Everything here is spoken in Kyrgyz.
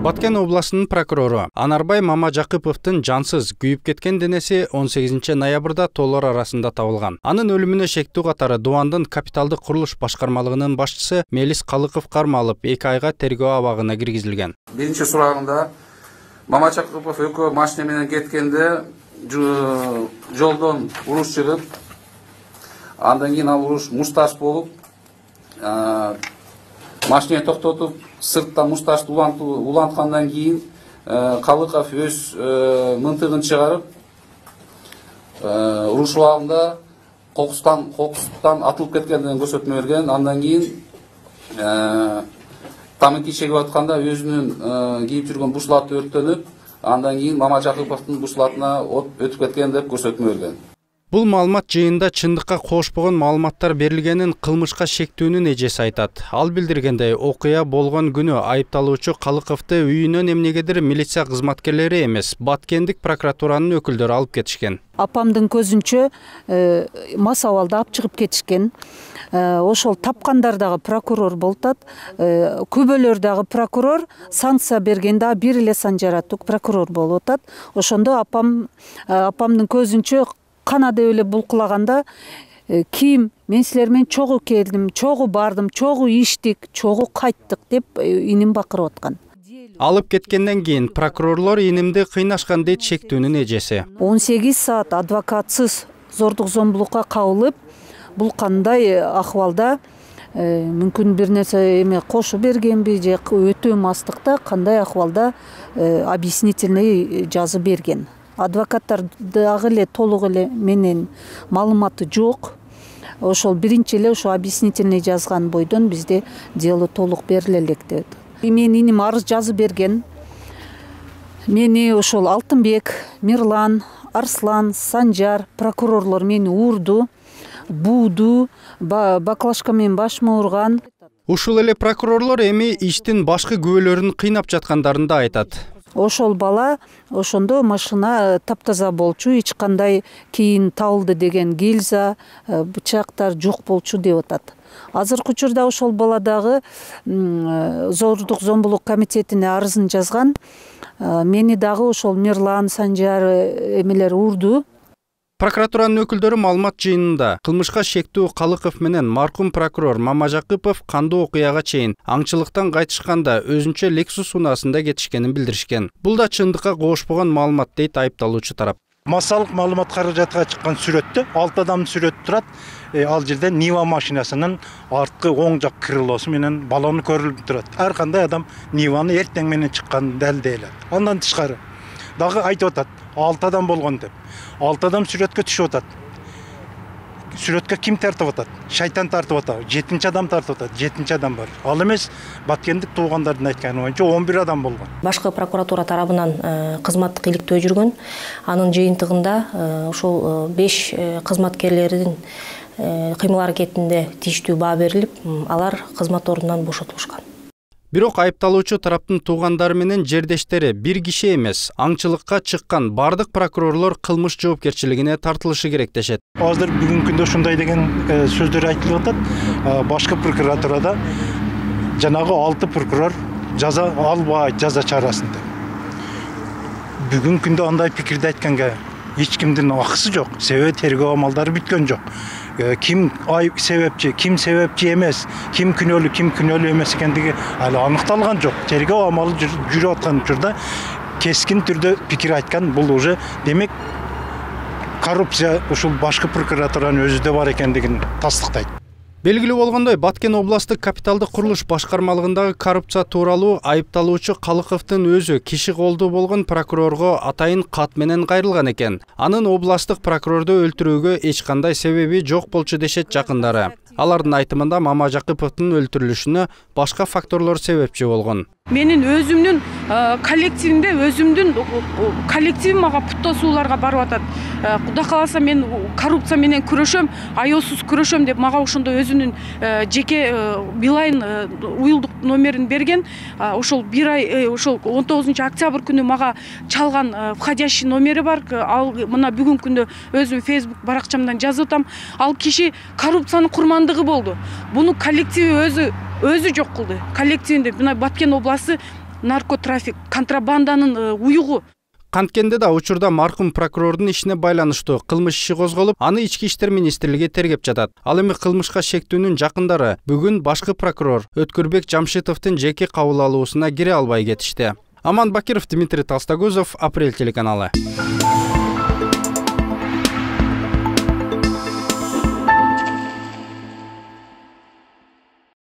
Баткен областынын прокурору Анарбай Мамажакыповдун жансыз күйүп кеткен денеси 18 ноябрда тоолор арасында табылган. Анын өлүмүнө шектүү катары Дубандын капиталдык курулуш башкармалыгынын башчысы Мелис Калыков кармалып, 2 айга тергөө абагына киргизилген. Биринчи сурагында Мамажакыпов экөө машина менен кеткенде жолдон уруш чыгып, андан кийин ал уруш мушташ болуп, машина токтотуп, сыртта мушташты уланткандан кийин Калыков өз мынтыгын чыгарып, уруш убагында кокустан атылып кеткендигин көрсөтмө берген. Андан кийин тамаки чегип атканда өзүнүн кийип жүргөн бушлаты өрттөнүп, андан кийин Мамажакыповдун бушлатына от өтүп кеткен деп көрсөтмө берген. Бул маалымат жыйында чындыкка кошпогон маалыматтар берилгенин кылмышка шектүүнүн эжеси айтат. Ал билдиргендей, окуя болгон күнү айыпталуучу Калыковду үйүнөн эмнегедир милиция кызматкерлери эмес, Баткендик прокуратуранын өкүлдөрү алып кетишкен. Апамдын көзүнчө мас абалда алып чыгып кетишкен. Ошол тапкандар дагы прокурор болуп атат. Күбөлөр дагы прокурор, санкция бергенде бир эле Санжар Атук прокурор болуп атат. Ошондо апамдын көзүнчө канада эле булкулаганда кийим мен силер менен чогуу келдим, чогуу бардым, чогуу иштик, чогуу кайттык деп иним бакырып аткан. Алып кеткенден кийин прокурорлор инимди кыйнашкан дейт шектүүнүн эжеси. 18 саат адвокатсыз зордук зомбулукка кабылып, бул кандай акыбалда мүмкүн бир нерсе эме кошуп бергенби же өтө мастыкта кандай акыбалда объяснительный жазып берген. Адвокаттар дагы эле толук эле менен маалыматы жок. Ошол биринчи эле ошо объяснительный жазган бойдон бизде дело толук бериле элек деп. Менин иним арыз жазып берген. Мени ошол Алтынбек, Мирлан, Арслан, Санжар прокурорлор мени урду, бууду, баклажка менен башыма урган. Ушул эле прокурорлор эми иштин башкы күбөлөрүн кыйнап жаткандарын да айтат. Ошол бала ошондо машина таптаза болчу, эч кандай кийин табылды деген гильза, бычактар жок болчу деп атат. Азыркы учурда ошол бала дагы зордук зомбулук комитетине арызын жазган. Мени дагы ошол Мирлан, Санжар эмелер урду. Прокуратуранын өкүлдөрү маалымат жыйынында кылмышка шектүү Калыков менен маркум прокурор Мамажакыпов кандуу окуяга чейин аңчылыктан кайтышканда өзүнчө Lexus унаасында кетишкенин билдиришкен. Бул да чындыкка кошпогон маалымат дейт айыпталуучу тарап. Массалык маалымат каражатка чыккан сүрөттө 6 адамдын сүрөтү турат. Ал жерде Нива машинасынын арткы оң жак крылосу менен баллону көрүлүп турат. Ар кандай адам Ниваны эртең менен чыкканын далилдей. Андан тышкары дагы айтып атат, 6 адам болгон деп. 6 адам сүрөткө түшүп атат. Сүрөткө ким тартып атат? Шайтан тартып атат. 7-чи адам тартып атат. 7-чи адам бар. Ал эмес, Баткендик туугандардын айтканы боюнча 11 адам болгон. Башкы прокуратура тарабынан кызматтык иликтөө жүргөн. Анын жыйынтыгында ошол 5 кызматкерлердин кыймыл аракетинде тийиштүү баа берилип, алар кызмат ордунан бошотулушкан. Бирок айыпталуучу тараптын туугандары менен жердештери бир киши эмес, аңчылыкка чыккан бардык прокурорлор кылмыш жоопкерчилигине тартылышы керек дешет. Азыр бүгүнкү күндө ушундай деген сөздөр айтылып атат. Башкы прокуратурада жанагы 6 прокурор жаза албайт, жаза чарасын деп. Бүгүнкү күндө андай пикирди айтканга эч кимдин акысы жок. Себеби тергөө амалдары бүткөн жок. Ким себепчи, ким себепчи эмес, ким күнөөлүү эмес экендиги али аныкталган жок. Тергөө амалы жүрүп аткан учурда кескин түрдө пикир айткан, бул уже демек коррупция ушул башкы прокуратуранын өзүдө бар экендигин тастыктайт. Белгилүү болгондой, Баткен областык капиталдык курулуш башкармалыгындагы коррупция тууралуу айыпталуучу Калыковдун өзү киши колдуу болгон прокурорго атайын кат менен кайрылган экен. Анын областык прокурорду өлтүрүүгө эч кандай себеби жок болчу дешет жакындары. Алардын айтымында Мамажакыповдун өлтүрүлүшүнө башка факторлор себепчи болгон. Менин өзүмдүн коллективимде өзүмдүн коллективим мага путтасууларга барып атат. Кудай кааласа мен коррупция менен күрөшөм, аяосуз күрөшөм деп мага ошондо өзүнүн жеке Билайн уюлдук номерин берген. Ошол бир ай ошол 19 октябрь күнү мага чалган входящий номери бар. Ал мына бүгүнкү күндө өзүм Facebook баракчамдан жазып атам. Ал киши коррупциянын курмандыгы болду. Буну коллективи өзү өзү жок кылды. Коллективинде мына Баткен областы наркотрафик, контрабанданын уюгу. Канткенде да учурда маркум прокурордун ишине байланыштуу кылмыш иши козголуп, аны Ички иштер министрлиги тергеп жатат. Ал эми кылмышка шектүүнүн жакындары бүгүн башкы прокурор Өткүрбек Жамшитовдун жеке кабыл алуусуна кире албай кетишти. Аман Бакиров, Дмитрий Толстогузов, Апрель телеканалы.